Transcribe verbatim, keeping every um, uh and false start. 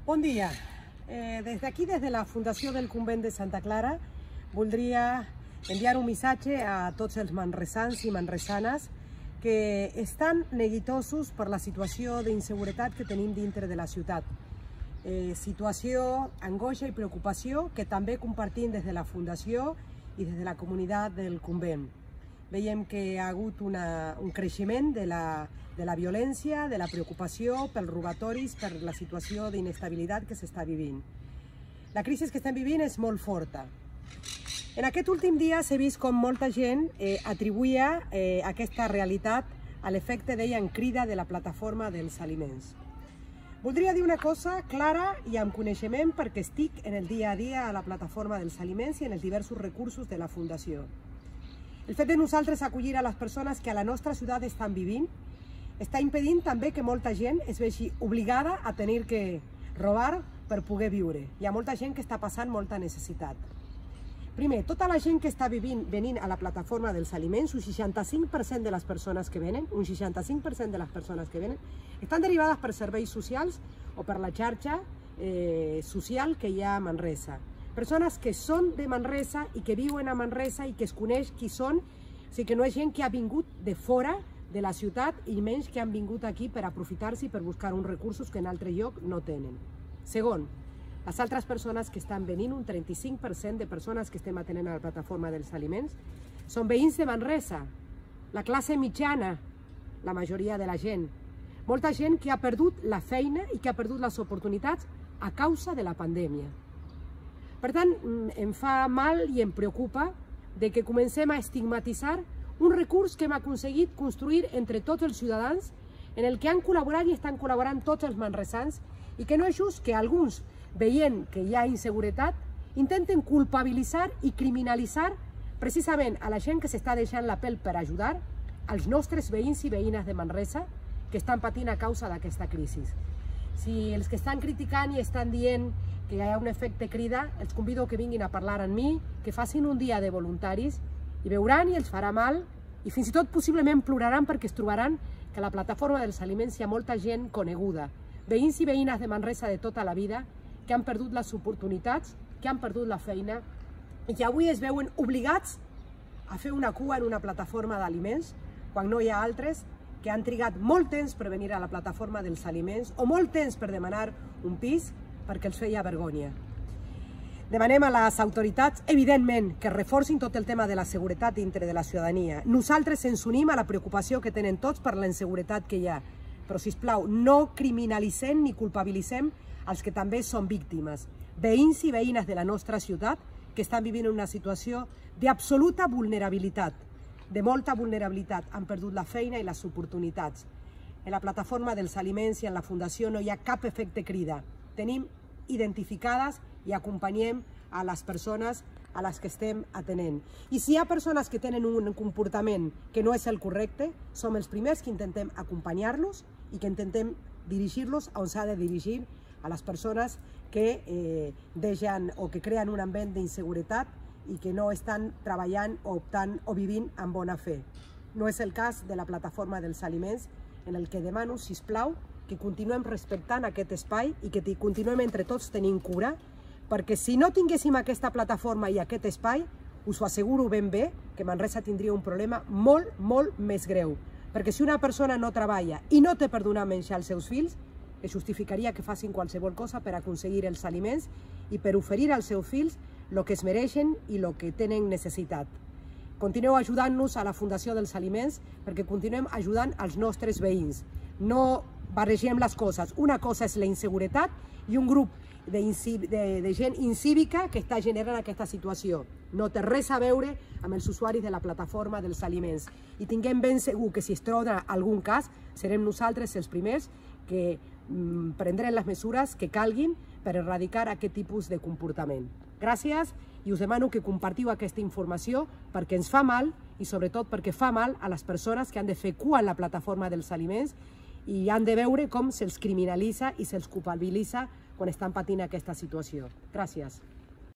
Bon dia. Eh, des d'aquí, des de la Fundació del Convent de Santa Clara, voldria enviar un missatge a tots els manresans i manresanes que estan neguitosos per la situació d'inseguretat que tenim dintre de la ciutat. Eh, situació, angoixa i preocupació que també compartim des de la Fundació i des de la comunitat del convent. Veiem que hi ha hagut una, un creixement de la, de la violència, de la preocupació pels robatoris, per la situació d'inestabilitat que s'està vivint. La crisi que estem vivint és molt forta. En aquest últim dia s'ha vist com molta gent eh, atribuïa eh, aquesta realitat a l'efecte, deien, crida de la plataforma dels aliments. Voldria dir una cosa clara i amb coneixement perquè estic en el dia a dia a la plataforma dels aliments i en els diversos recursos de la Fundació. El fet de nosaltres acollir a les persones que a la nostra ciutat estan vivint està impedint també que molta gent es vegi obligada a tenir que robar per poder viure. Hi ha molta gent que està passant molta necessitat. Primer, tota la gent que està vivint, venint a la plataforma dels aliments, un seixanta-cinc per cent de les persones que venen, un seixanta-cinc per cent de les persones que venen, estan derivades per serveis socials o per la xarxa eh, social que hi ha a Manresa. Persones que són de Manresa i que viuen a Manresa i que es coneix qui són, o sigui que no és gent que ha vingut de fora de la ciutat i menys que han vingut aquí per aprofitar-se i per buscar uns recursos que en altre lloc no tenen. Segon, les altres persones que estan venint, un trenta-cinc per cent de persones que estem atenent a la plataforma dels aliments, són veïns de Manresa, la classe mitjana, la majoria de la gent. Molta gent que ha perdut la feina i que ha perdut les oportunitats a causa de la pandèmia. Per tant, em fa mal i em preocupa de que comencem a estigmatitzar un recurs que hem aconseguit construir entre tots els ciutadans, en el que han col·laborat i estan col·laborant tots els manresans, i que no és just que alguns, veient que hi ha inseguretat, intenten culpabilitzar i criminalitzar precisament a la gent que s'està deixant la pell per ajudar, als nostres veïns i veïnes de Manresa que estan patint a causa d'aquesta crisi. Si els que estan criticant i estan dient que hi ha un efecte crida, els convido que vinguin a parlar amb mi, que facin un dia de voluntaris i veuran i els farà mal i fins i tot possiblement ploraran perquè es trobaran que a la plataforma dels aliments hi ha molta gent coneguda, veïns i veïnes de Manresa de tota la vida que han perdut les oportunitats, que han perdut la feina i que avui es veuen obligats a fer una cua en una plataforma d'aliments quan no hi ha altres que han trigat molt temps per venir a la plataforma dels aliments o molt temps per demanar un pis perquè els feia vergonya. Demanem a les autoritats, evidentment, que reforcin tot el tema de la seguretat dintre de la ciutadania. Nosaltres ens unim a la preocupació que tenen tots per la inseguretat que hi ha. Però, sisplau, no criminalitzem ni culpabilitzem els que també són víctimes. Veïns i veïnes de la nostra ciutat que estan vivint una situació d'absoluta vulnerabilitat, de molta vulnerabilitat. Han perdut la feina i les oportunitats. En la plataforma dels aliments i en la Fundació no hi ha cap efecte crida. Tenim identificades i acompanyem a les persones a les que estem atenent. I si hi ha persones que tenen un comportament que no és el correcte, som els primers que intentem acompanyar-los i que intentem dirigir-los on s'ha de dirigir a les persones que eh, deixen o que creen un ambient d'inseguretat i que no estan treballant o optant o vivint amb bona fe. No és el cas de la plataforma dels aliments, en el que demano, sisplau, que continuem respectant aquest espai i que continuem entre tots tenint cura, perquè si no tinguéssim aquesta plataforma i aquest espai, us ho asseguro ben bé que Manresa tindria un problema molt, molt més greu. Perquè si una persona no treballa i no té per donar menjar als seus fills, es justificaria que facin qualsevol cosa per aconseguir els aliments i per oferir als seus fills el que es mereixen i el que tenen necessitat. Continueu ajudant-nos a la Fundació dels Aliments perquè continuem ajudant els nostres veïns. No barregem les coses. Una cosa és la inseguretat i un grup de, de, de gent incívica que està generant aquesta situació. No té res a veure amb els usuaris de la plataforma dels aliments. I tinguem ben segur que si es troba algun cas, serem nosaltres els primers que mm, prendrem les mesures que calguin per erradicar aquest tipus de comportament. Gràcies i us demano que compartiu aquesta informació perquè ens fa mal i sobretot perquè fa mal a les persones que han de fer cua en la plataforma dels aliments i han de veure com se'ls criminalitza i se'ls culpabilitza quan estan patint aquesta situació. Gràcies.